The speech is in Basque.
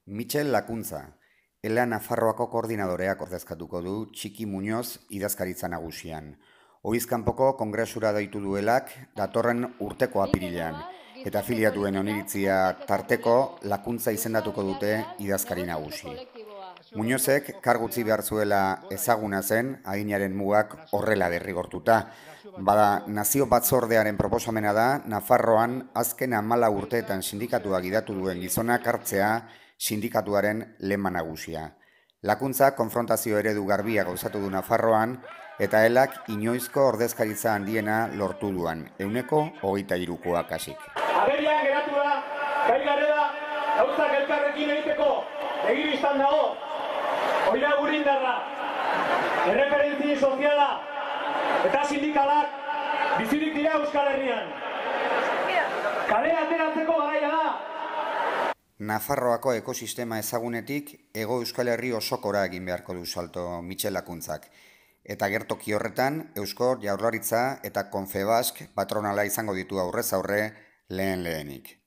Michel Lakuntza, ELA Nafarroako koordinadoreak ordezkatuko du Txiki Muñoz idazkaritza nagusian. Oizkanpoko kongresura deitu duelak datorren urteko apirilean, eta afiliatuen oniritzia tarteko Lakuntza izendatuko dute idazkari nagusi. Muñozek kargutzi behar zuela ezaguna zen, adinaren mugak horrela derrigortuta. Bada, nazio batzordearen proposamena da, Nafarroan azken 14 urteetan sindikatua gidatu duen gizonak hartzea sindikatuaren lema nagusia. Lakuntza konfrontazio eredu garbia gauzatu du Nafarroan, eta elak inoizko ordezkaritza handiena lortu duan, 123koa kasik. Agerian geratu da, gai garela, gauzak elkarrekin egiteko, begibistan dago, oira gurindarra, erreferentzi soziala eta sindikalak bizirik dira Euskal Herrian. Kalea ateratzeko garaia da. Nafarroako ekosistema ezagunetik Hego Euskal Herri osokora egin beharko du salto Michel Lakuntzak. Eta gertoki horretan, Eusko Jaurlaritza eta Confebask patronala izango ditu aurrez aurre lehenik.